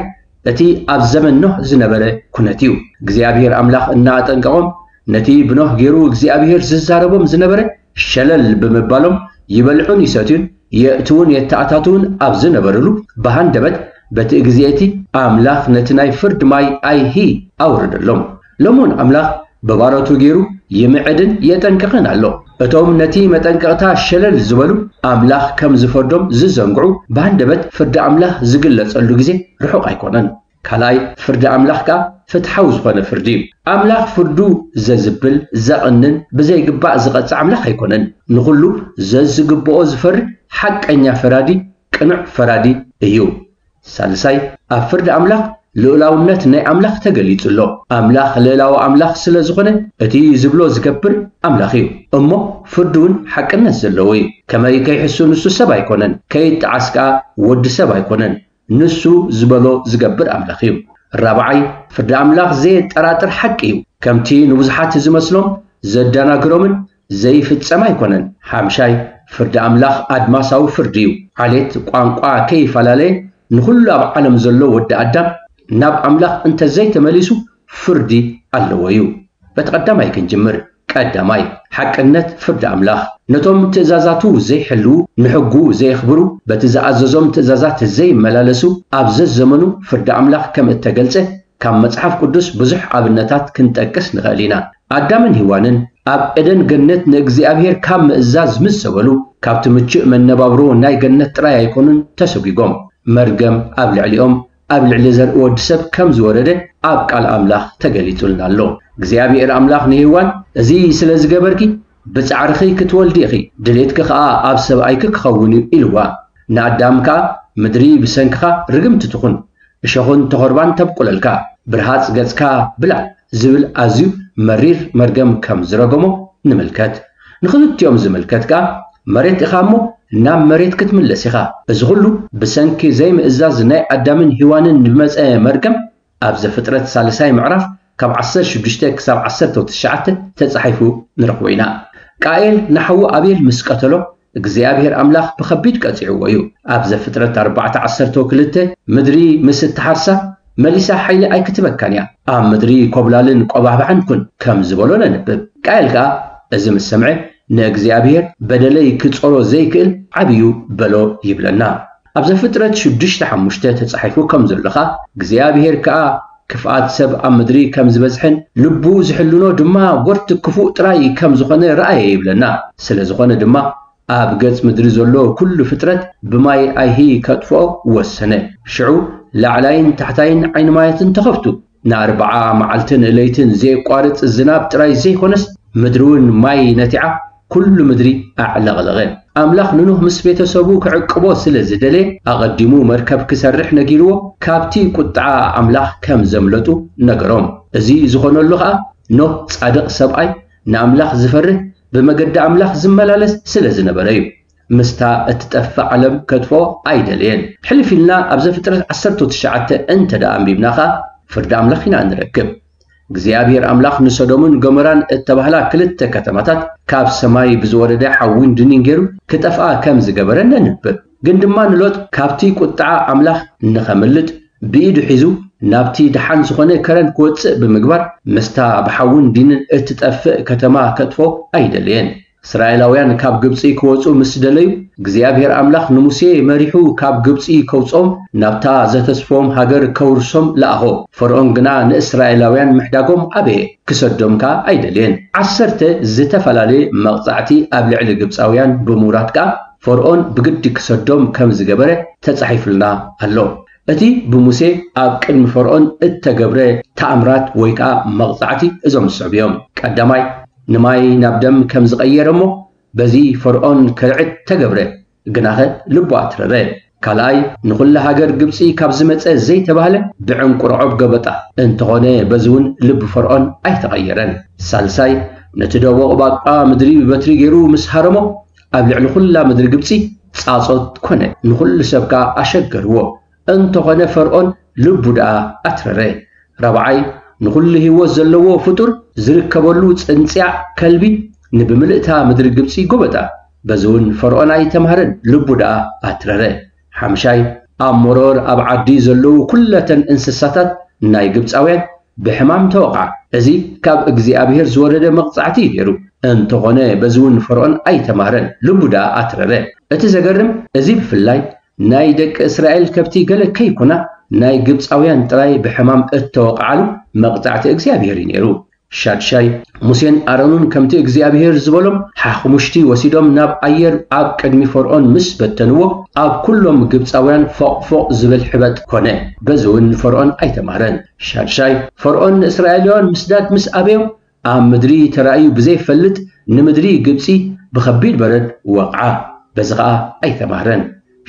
እቲ ኣብ ዘመን ኖህ ዝነበረ ኩነት እዩ። እግዚኣብሔር ኣምላኽ እናኣጠንቀቖም ነቲ ብኖህ ገይሩ እግዚኣብሔር ዝዛረቦም ዝነበረ ሸለል ብምባሎም ይበልዑን ይሰትዩን የእትውን የተኣታትውን ኣብ ዝነበርሉ ብሃንደበት በቲ ግዜ እቲ ኣምላኽ ነቲ ናይ ፍርድ ማይ ኣይሂ ኣውረደሎም። ሎሚ እውን ኣምላኽ ብባሮቱ ገይሩ ይምዕድን የጠንቅቕን ኣሎ። እቶም ነቲ መጠንቀቕታ ሸለል ዝበሉ፣ ኣምላኽ ከም ዝፈርዶም ዝዘንግዑ፣ ብሃንደበት ፍርዲ ኣምላኽ ዝግለጸሉ ግዜ ርሑቕ ኣይኮነን። ካልኣይ፣ ፍርዲ ኣምላኽ ከኣ ፍትሓዊ ዝኾነ ፍርዲ እዩ። ኣምላኽ ፍርዱ ዘዝብል፣ ዘቕንን ብዘይግባእ ዝቐጽዕ ኣምላኽ ኣይኮነን። ንኹሉ ዘዝግብኦ ዝፈርድ ሓቀኛ ፈራዲ፣ ቅኑዕ ፈራዲ እዩ። ሳልሳይ፣ ኣብ ፍርዲ ኣምላኽ ልኡላውነት ናይ ኣምላኽ ተገሊጹ ኣሎ። ኣምላኽ ልእላዊ ኣምላኽ ስለ ዝኾነ፣ እቲ ዝብሎ ዝገብር ኣምላኽ እዩ። እሞ ፍርዱ እውን ሓቅነት ዘለዎ እዩ። ከመይ ከይሕሱ ንሱ ሰብ ኣይኮነን፣ ከይጠዓስ ከኣ ወዲ ሰብ ኣይኮነን። ንሱ ዝበሎ ዝገብር ኣምላኽ እዩ። ራብዓይ፣ ፍርዲ ኣምላኽ ዘየጠራጥር ሓቂ እዩ። ከምቲ ንብዙሓት ዝመስሎም ዘደናግሮምን ዘይፍጸም ኣይኮነን። ሓምሻይ፣ ፍርዲ ኣምላኽ ኣድማሳዊ ፍርዲ እዩ። ዓሌት፣ ቋንቋ ከይፈላለየ ንኹሉ ኣብ ዓለም ዘሎ ወዲ ኣዳም ናብ ኣምላኽ እንተዘይተመሊሱ ፍርዲ ኣለዎ እዩ። በቲ ቀዳማይ ክንጅምር። ቀዳማይ፣ ሓቅነት ፍርዲ ኣምላኽ። ነቶም ትእዛዛቱ ዘይሕልዉ፣ ንሕጉ ዘየኽብሩ፣ በቲ ዝኣዘዞም ትእዛዛት ዘይመላለሱ ኣብ ዘዘመኑ ፍርዲ ኣምላኽ ከም እተገልጸ ካብ መጽሓፍ ቅዱስ ብዙሕ ኣብነታት ክንጠቅስ ንኽእል ኢና። ኣዳምን ሄዋንን ኣብ ኤደን ገነት ንእግዚኣብሔር ካብ ምእዛዝ ምስ ዘበሉ፣ ካብቲ ምቹእ መነባብሮ ናይ ገነት ጥራይ ኣይኮኑን ተሰጒጎም። መርገም ኣብ ልዕሊኦም፣ ኣብ ልዕሊ ዘርኢ ወዲ ሰብ ከም ዝወረደ ኣብ ቃል ኣምላኽ ተገሊጹልና ኣሎ። እግዚኣብሔር ኣምላኽ ንሄዋን፣ "እዚ ስለ ዝገበርኪ፣ ብጻዕርኺ ክትወልዲ ኢኺ፣ ድሌትኪ ኸኣ ኣብ ሰብኣይኪ ክኸውን እዩ" ኢልዋ። ንኣዳም ከኣ፣ "ምድሪ ብሰንክኻ ርግምቲ ትኹን፣ እሾኽን ተኾርባን ተብቁለልካ፣ ብርሃጽ ገጽካ ብላዕ" ዝብል ኣዝዩ መሪር መርገም ከም ዝረገሞ ንምልከት። ንኽልቲኦም ዝምልከት ከኣ፣ "መሬት ኢኻ እሞ ናብ መሬት ክትምለስ ኢኻ።" እዚ ኹሉ ብሰንኪ ዘይምእዛዝ ናይ ኣዳምን ሄዋንን ዝመጸ መርገም ኣብ ዘፍጥረት ሳልሳይ ምዕራፍ ካብ ዓሰርተ ሽዱሽተ ክሳብ ዓሰርተ ትሽዓተ ተጻሒፉ ንረኽቦ ኢና። ቃኤል ንሓዉ ኣቤል ምስ ቀተሎ፣ እግዚኣብሔር ኣምላኽ ብኸቢድ ቀጺዕዎ እዩ። ኣብ ዘፍጥረት ኣርባዕተ ዓሰርተ ክልተ፣ "ምድሪ ምስ እትሓርሳ፣ መሊሳ ሓይሊ ኣይክትበካን እያ። ኣብ ምድሪ ኮብላልን ቆባሕባሕን ኩን" ከም ዝበሎ ነንብብ። ቃኤል ከኣ እዚ ምስ ሰምዐ፣ "ንእግዚኣብሔር በደለይ ክጾሮ ዘይክእል ዓብዩ በሎ" ይብለና። ኣብ ዘፍጥረት ሽዱሽተ ሓሙሽተ ተጻሒፉ ከም ዘሎ ኸኣ፣ እግዚኣብሔር ከኣ ክፍኣት ሰብ ኣብ ምድሪ ከም ዝበዝሐን ልቡ ዝሕልኖ ድማ ጎርቲ ክፉእ ጥራይ ከም ዝኾነ ረኣየ ይብለና። ስለ ዝኾነ ድማ ኣብ ገጽ ምድሪ ዘሎ ኩሉ ፍጥረት ብማይ ኣይሂ ከጥፍኦ ወሰነ። ሽዑ ላዕላይን ታሕታይን ዓይኒ ማያትን ተኸፍቱ። ንኣርብዓ መዓልትን ለይትን ዘየቋርጽ ዝናብ ጥራይ ዘይኮነስ፣ ምድሪ እውን ማይ ነቲዓ፣ ኩሉ ምድሪ ኣዕለቕለቐ። ኣምላኽ ንኖህ ምስ ቤተሰቡ ክዕቅቦ ስለ ዝደለየ፣ ኣቐዲሙ መርከብ ክሰርሕ ነጊርዎ፣ ካብቲ ቁጥዓ ኣምላኽ ከም ዘምለጡ ነገሮም። እዚ ዝኾነሉ ኸኣ፣ ኖህ ጻድቕ ሰብኣይ፣ ንኣምላኽ ዝፈርህ፣ ብመገዲ ኣምላኽ ዝመላለስ ስለ ዝነበረ እዩ። ምስታ እትጠፍእ ዓለም ከጥፍኦ ኣይደለየን። ሕልፍ ኢልና ኣብ ዘፍጥረት ዓሰርተ ትሽዓተ እንተ ደኣ ኣንቢብና ኸኣ፣ ፍርዲ ኣምላኽ ኢና እንረክብ። እግዚኣብሔር ኣምላኽ ንሰዶምን ገሞራን እተባህላ ክልተ ከተማታት ካብ ሰማይ ብዝወረደ ሓዊን ድኒን ገይሩ ክጠፍኣ ከም ዝገበረ ነንብብ። ግን ድማ ንሎጥ ካብቲ ቁጥዓ ኣምላኽ ንኸምልጥ ብኢዱ ሒዙ ናብቲ ደሓን ዝኾነ ከረን ክወጽእ ብምግባር፣ ምስታ ብሓውን ዲንን እትጠፍእ ከተማ ከጥፎ ኣይደለየን። እስራኤላውያን ካብ ግብጺ ክወጹ ምስ ደለዩ፣ እግዚኣብሔር ኣምላኽ ንሙሴ መሪሑ ካብ ግብጺ ከውጽኦም፣ ናብታ ዘተስፍዎም ሃገር ከውርሶም ለኣኾ። ፈርኦን ግና ንእስራኤላውያን ምሕዳጎም ኣበየ፣ ክሰዶም ከኣ ኣይደልየን። ዓሰርተ ዝተፈላለየ መቕጻዕቲ ኣብ ልዕሊ ግብጻውያን ብምውራድ ከኣ፣ ፈርኦን ብግዲ ክሰዶም ከም ዝገበረ ተጻሒፉልና ኣሎ። እቲ ብሙሴ ኣብ ቅድሚ ፈርኦን እተገብረ ተኣምራት ወይ ከኣ መቕጻዕቲ እዞም ዝስዕቡ እዮም። ቀዳማይ፣ ንማይ ናብ ደም ከም ዝቐየረ እሞ፣ በዚ ፈርኦን ከርዕድ ተገብረ፣ ግናኸ ልቡ ኣትረረ። ካልኣይ፣ ንኹላ ሃገር ግብጺ ካብ ዝመጸ ዘይተባህለ ብዕንቁርዖብ ገበጣ። እንተኾነ፣ በዚ እውን ልቢ ፈርኦን ኣይተቐየረን። ሳልሳይ፣ ነቲ ደቦቕ ባቃ ምድሪ ብበትሪ ገይሩ ምስ ሃረሞ፣ ኣብ ልዕሊ ኩላ ምድሪ ግብጺ ጻጾት ኮነ፣ ንኹሉ ሰብ ከኣ ኣሸገርዎ። እንተኾነ፣ ፈርኦን ልቡ ደኣ ኣትረረ። ራብዓይ፣ ንኹሉ ህይወት ዘለዎ ፍጡር ዝርከበሉ ጽንጽያ ከልቢ ንብምልእታ ምድሪ ግብጺ ጎበጣ። በዚ እውን ፈርኦን ኣይተማህረን፣ ልቡ ደኣ ኣትረረ። ሓምሻይ፣ ኣብ መሮር ኣብ ዓዲ ዘለዉ ኩለተን እንስሳታት ናይ ግብጻውያን ብሕማም ተወቕዓ። እዚ ካብ እግዚኣብሔር ዝወረደ መቕጻዕቲ እዩ ነይሩ። እንተኾነ፣ በዚ እውን ፈርኦን ኣይተማህረን፣ ልቡ ደኣ ኣትረረ። እቲ ዘገርም፣ እዚ ብፍላይ ናይ ደቂ እስራኤል ከብቲ ገለ ከይኮና፣ ናይ ግብፃውያን ጥራይ ብሕማም እተወቕዓሉ መቕጻዕቲ እግዚኣብሔር እዩ ነይሩ። ሻድሻይ፣ ሙሴን ኣሮንን ከምቲ እግዚኣብሔር ዝበሎም ሓኽሙሽቲ ወሲዶም ናብ ኣየር ኣብ ቅድሚ ፈርዖን ምስ በተንዎ፣ ኣብ ኩሎም ግብፃውያን ፎቕ ፎቕ ዝብል ሕበጥ ኮነ። በዚ እውን ፈርዖን ኣይተማህረን። ሻድሻይ፣ ፈርዖን ንእስራኤላውያን ምስዳድ ምስ ኣበዮም፣ ኣብ ምድሪ ተራእዩ ብዘይፈልጥ ንምድሪ ግብፂ ብኸቢድ በረድ ወቕዓ። በዚ ኸኣ ኣይተማህረን።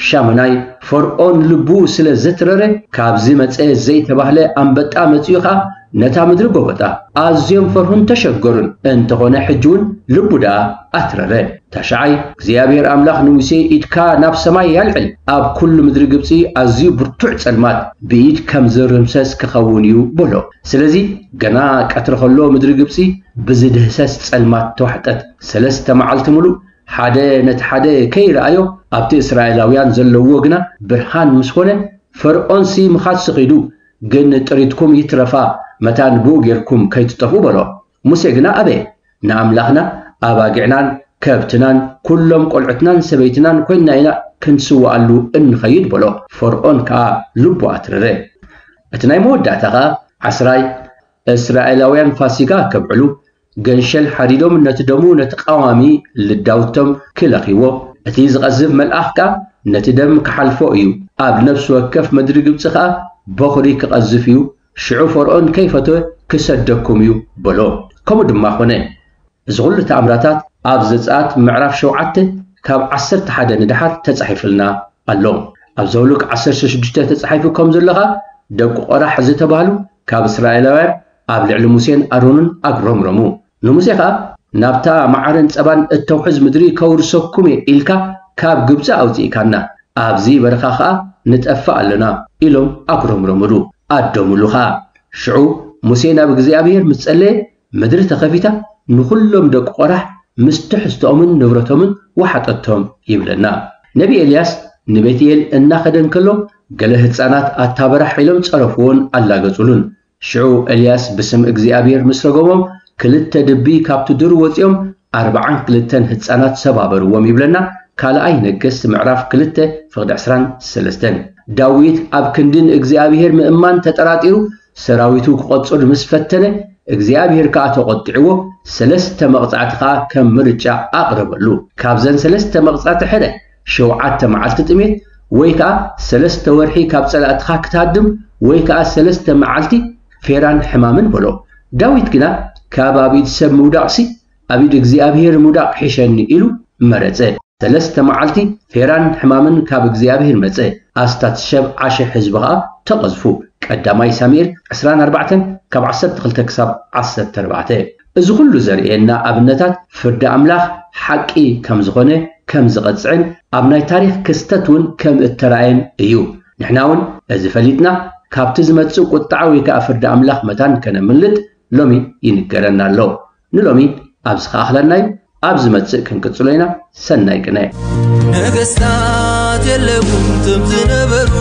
ሻሙናይ፣ ፈርዖን ልቡ ስለ ዘትረረ፣ ካብዚ መጸ ዘይተባህለ ኣንበጣ መጺኡ ኸኣ ነታ ምድሪ ጎበጣ። ኣዝዮም ፈርሁን ተሸገሩን። እንተኾነ ሕጂ እውን ልቡ ደኣ ኣትረረ። ታሽዓይ፣ እግዚኣብሔር ኣምላኽ ንሙሴ፣ ኢድካ ናብ ሰማይ ኣልዕል፣ ኣብ ኩሉ ምድሪ ግብጺ ኣዝዩ ብርቱዕ ጸልማት፣ ብኢድ ከም ዝርምሰስ ክኸውን እዩ በሎ። ስለዚ ገና ቀትሪ ኸሎ ምድሪ ግብጺ ብዝድህሰስ ጸልማት ተዋሕጠት። ሰለስተ መዓልቲ ምሉእ ሓደ ነቲ ሓደ ከይረኣዮ ኣብቲ እስራኤላውያን ዘለዎ ግና ብርሃን ምስ ኾነ፣ ፈርዖንሲ ምኻድ ስኺዱ፣ ግን ጥሪትኩም ይትረፋ፣ መታን ብኡ ጌርኩም ከይትጠፍኡ በሎ። ሙሴ ግና ኣበየ፣ ንኣምላኽና ኣባጊዕናን ከብትናን ኩሎም ቆልዑትናን ሰበይትናን ኮይንና ኢና ክንስውኣሉ እንኸይድ በሎ። ፈርዖን ከኣ ልቡ ኣትረረ። እቲ ናይ መወዳእታ ኸኣ ዓስራይ፣ እስራኤላውያን ፋሲጋ ከብዕሉ ገንሸል ሓዲዶም ነቲ ደሙ ነቲ ቀዋሚ ልዳውቶም ክለኽይዎ፣ እቲ ዝቐዝፍ መልኣኽ ከኣ ነቲ ደም ክሓልፎ እዩ። ኣብ ነፍሲ ወከፍ ምድሪ ግብጺ ከኣ በኹሪ ክቐዝፍ እዩ። ሽዑ ፈርዖን ከይፈተወ ክሰደኩም እዩ በሎ። ከምኡ ድማ ኾነ። እዚ ኹሉ ተኣምራታት ኣብ ዘጸኣት ምዕራፍ ሸውዓተ ካብ ዓሰርተ ሓደ ንደሓር ተጻሒፉልና ኣሎ። ኣብ ዘውልቅ ዓሰርተ ሽዱሽተ ተጻሒፉ ከም ዘሎ ኸኣ ደቂ ቆራሕ ዝተባህሉ ካብ እስራኤላውያን ኣብ ልዕሊ ሙሴን ኣሮንን ኣግረምረሙ። ንሙሴ ኸኣ ናብታ መዓርን ጸባን እተውሕዝ ምድሪ ከውርሰኩም እየ ኢልካ ካብ ግብጺ ኣውጺእካና፣ ኣብዚ በረኻ ኸኣ ንጠፍእ ኣለና ኢሎም ኣጉረምረምሉ፣ ኣደምሉ ኸኣ። ሽዑ ሙሴ ናብ እግዚኣብሔር ምስ ጸለየ ምድሪ ተኸፊታ ንኹሎም ደቂ ቆራሕ ምስ ትሕዝቶኦምን ንብረቶምን ወሓጠቶም ይብለና። ነቢ ኤልያስ ንቤትኤል እናኸደ እንከሎ ገለ ህጻናት ኣታ በራሕ ኢሎም ጸረፍዎን ኣላገጹሉን። ሽዑ ኤልያስ ብስም እግዚኣብሔር ምስ ረገሞም ክልተ ድቢ ካብቲ ዱር ወጺኦም ኣርብዓን ክልተን ህጻናት ሰባበርዎም ይብለና። ካልኣይ ነገስት ምዕራፍ ክልተ ፍቕዲ ዕስራን ሰለስተን። ዳዊት ኣብ ክንዲ ንእግዚኣብሔር ምእማን ተጠራጢሩ ሰራዊቱ ክቐጽር ምስ ፈተነ እግዚኣብሔር ከኣ ተቖጢዕዎ ሰለስተ መቕጻዕቲ ከኣ ከም ምርጫ ኣቕረበሉ። ካብዘን ሰለስተ መቕጻዕቲ ሕደ ሸውዓተ መዓልቲ ጥሜት ወይ ከኣ ሰለስተ ወርሒ ካብ ጸላእትኻ ክትሃድም ወይ ከኣ ሰለስተ መዓልቲ ፌራን ሕማምን በሎ። ዳዊት ግና ካብ ኣብ ኢድ ሰብ ምውዳቕሲ ኣብ ኢድ እግዚኣብሔር ምውዳቕ ይሕሸኒ ኢሉ መረጸ። ሰለስተ መዓልቲ ፌራን ሕማምን ካብ እግዚኣብሔር መጸ። ኣስታት ሸብዓ ሽሕ ህዝቢ ኸኣ ተቐዝፉ። ቀዳማይ ሳሙኤል ዕስራን ኣርባዕተን ካብ ዓሰርተ ክልተ ክሳብ ዓሰርተ ኣርባዕተ። እዚ ኹሉ ዘርእየና ኣብነታት ፍርዲ ኣምላኽ ሓቂ ከም ዝኾነ ከም ዝቐጽዕን ኣብ ናይ ታሪኽ ክስተት እውን ከም እተራእየን እዩ። ንሕና እውን እዚ ፈሊጥና ካብቲ ዝመጽእ ቁጥዓ ወይ ከኣ ፍርዲ ኣምላኽ መታን ከነምልጥ ሎሚ ይንገረና ኣሎ። ንሎሚ ኣብዚ ከኣኽለና እዩ። ኣብ ዝመጽእ ክንቅጽሎ ኢና። ሰናይ ቅነ። ነገስታት የለውን ትም ዝነበሩ፣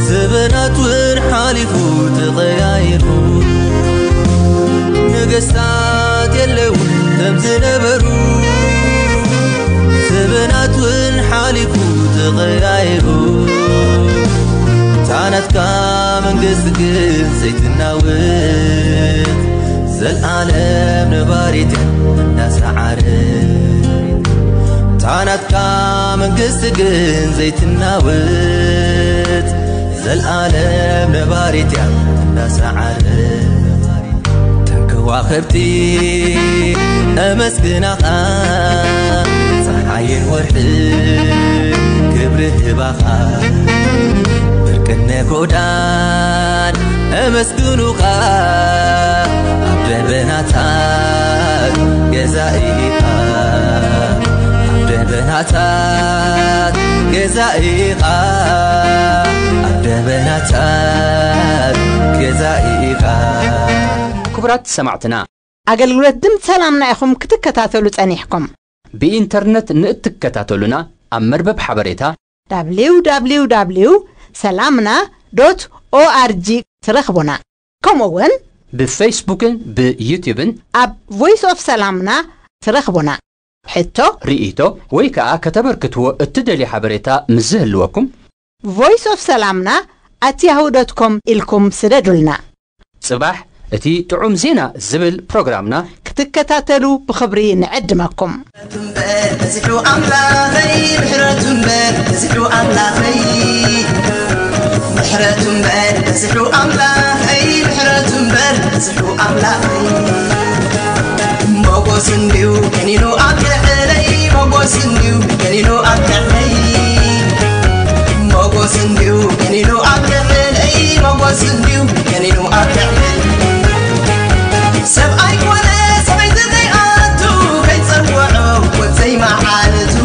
ዘበናት እውን ሓሊፉ ተቐያይሩ። ነገስታት የለውን ትም ዝነበሩ፣ ዘበናት እውን ሓሊፉ ተቐያይሩ። ታናትካ መንግስቲ ግን ዘይትናወት፣ ዘልኣለም ነባሪት እያ እንዳሰዓረት። ታናትካ መንግስቲ ግን ዘይትናወት፣ ዘልኣለም ነባሪት እያ እንዳሰዓረት። ተንከዋኸብቲ ኣመስግናኻ፣ ፀሓይን ወርሒ ክብሪ ህባኻ፣ ብርቅነ ጎዳን ኣመስግኑኻ። ኣብ ደበናታት ገዛኢኻ፣ ኣብ ደበናታት ገዛኢኻ፣ ኣብ ደበናታት ገዛኢኻ። ክቡራት ሰማዕትና፣ ኣገልግሎት ድምፂ ሰላምና ኢኹም ክትከታተሉ ጸኒሕኩም። ብኢንተርነት ንእትከታተሉና ኣብ መርበብ ሓበሬታ www ሰላምና ዶት ኦኣርጂ ትረኽቡና። ከምኡ እውን ብፌስቡክን ብዩትዩብን ኣብ ቮይስ ኦፍ ሰላምና ትረኽቡና። ሕቶ፣ ርእይቶ ወይ ከኣ ከተበርክትዎ እትደልዩ ሓበሬታ ምስ ዝህልወኩም፣ voice of salamna at yahoo dot com ኢልኩም ስደዱልና። ጽባሕ እቲ ጥዑም ዜና ዝብል ፕሮግራምና ክትከታተሉ ብኽብሪ ንዕድመኩም። ምሕረቱ እምበር በዚሑ ኣምላኸይ፣ ምሕረቱ እምበር በዚሑ ኣምላኸይ፣ ምሕረቱ እምበር በዚሑ ኣምላኸይ፣ ምሕረቱ እምበር በዚሑ ኣምላኸይ። ሞጎስ እንድዩ ገኒኑ ኣብ ልዕለይ፣ ሞጎስ እንድዩ ገኒኑ ኣብ ልዕለይ፣ ሞጎስ እንድዩ ገኒኑ ኣብ ልዕለይ፣ ሞጎስ እንድዩ ገኒኑ ኣብ ልዕለይ። ሰብኣይ ኮነ ሰበይቲ ዘይኣቱ፣ ከይጸውዖ ወድ ዘይመዓልቱ፣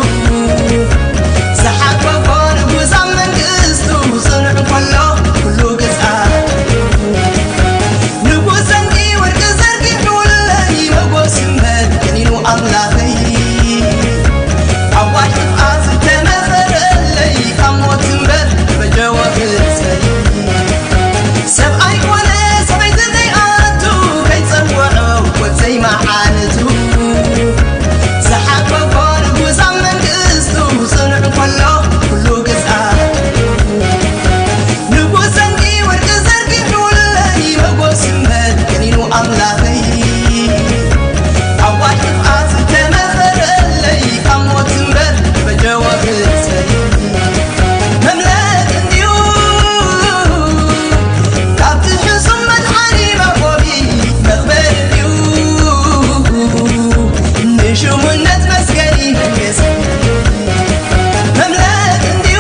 ዝሓቆፎ ንጉስ ኣብ መንግስቱ፣ ጽኑዕ እንከሎ ኩሉ ግዝኣቱ። ንጉስ ዘንጊ ወርቂ ዘርጊሑለይ፣ መጎስ እምበር ገኒኑ ኣምላኸይ። ኣዋጅ ጥፍኣት ዝተመኸረለይ፣ ካብ ሞት እምበር ተበጀወ ህዝበይ። ሰብኣይ ኮነ ሰበይቲ ዘይኣቱ፣ ከይጸውዖ ወድ ዘይመዓልቱ፣ ዝሓቆፎ ንጉስ ኣብ መንግስቱ፣ ጽኑዕ እንከሎ ኩሉ ግዝኣቱ። ንጉስ ዘንጊ ወርቂ ዘርጊሑለይ፣ መጎስ እምበር ገኒኑ ኣምላኸይ። ኣዋጅ ጥፍኣት ዝተመኸረለይ፣ ካብ ሞት እምበር ተበጀወ ህዝበይ። መምለጥ እንድዩ ካብቲ ሕሱም መድሓኒ መቆሚ፣ መኽበሪ እንድዩ ንሽሙነት መስገኒ መንግስቲ። መምለጥ እንድዩ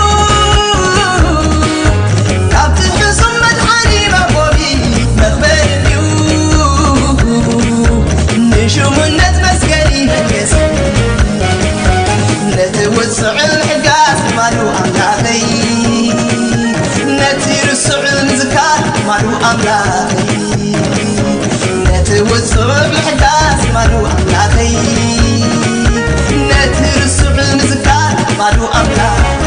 ካብቲ ሕሱም መድሓኒ መቆሚ፣ መኽበሪ እንድዩ ንሽሙነት መስገኒ መንግስቲ። ነቲ ውጽዑል ምሕጋዝ ማሉ ኣምላኸይ፣ ነቲ ርስዑል ምዝካር ማሉ ኣምላኸይ፣ ነቲ ውጽዑል ምሕጋዝ ማሉ ኣምላኸይ፣ ነቲ ርስዑል ምዝካር ማሉ ኣምላኸይ።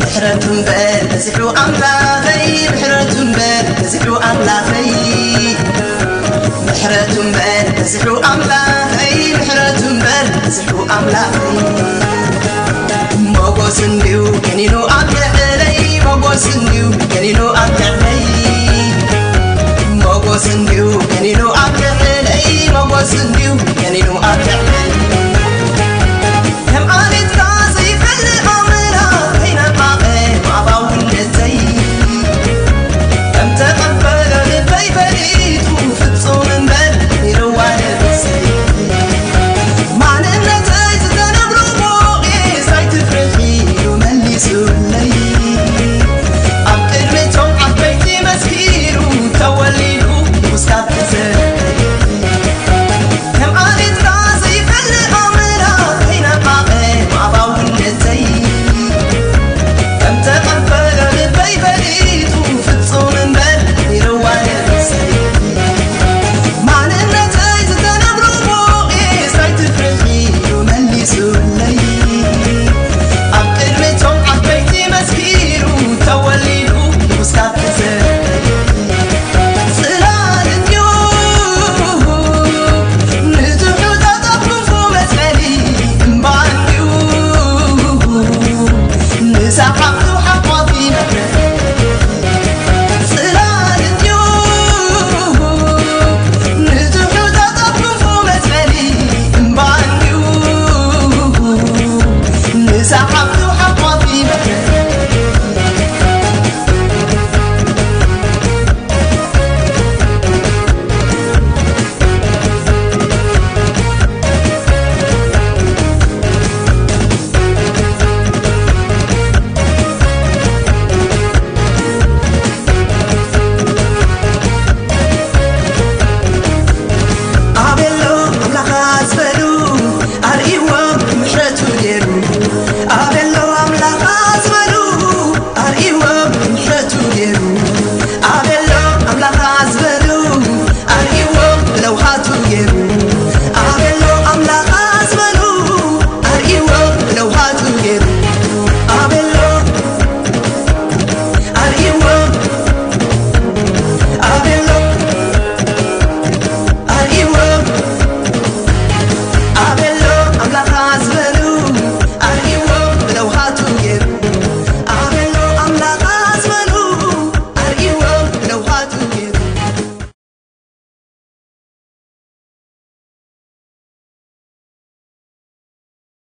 ምሕረቱ እምበር በዚሑ ኣምላኸይ፣ ምሕረቱ እምበር በዚሑ ኣምላኸይ፣ ምሕረቱ እምበር በዚሑ ኣምላኸይ፣ ምሕረቱ እምበር በዚሑ ኣምላኸይ። ሞጎስ እንድዩ ገኒኑ ኣብ ልዕለይ፣ ሞጎስ እንድዩ ገኒኑ ኣብ ልዕለይ፣ ሞጎስ እንድዩ ገኒኑ ኣብ ልዕለይ፣ ሞጎስ እንድዩ ገኒኑ ኣብ ልዕለይ።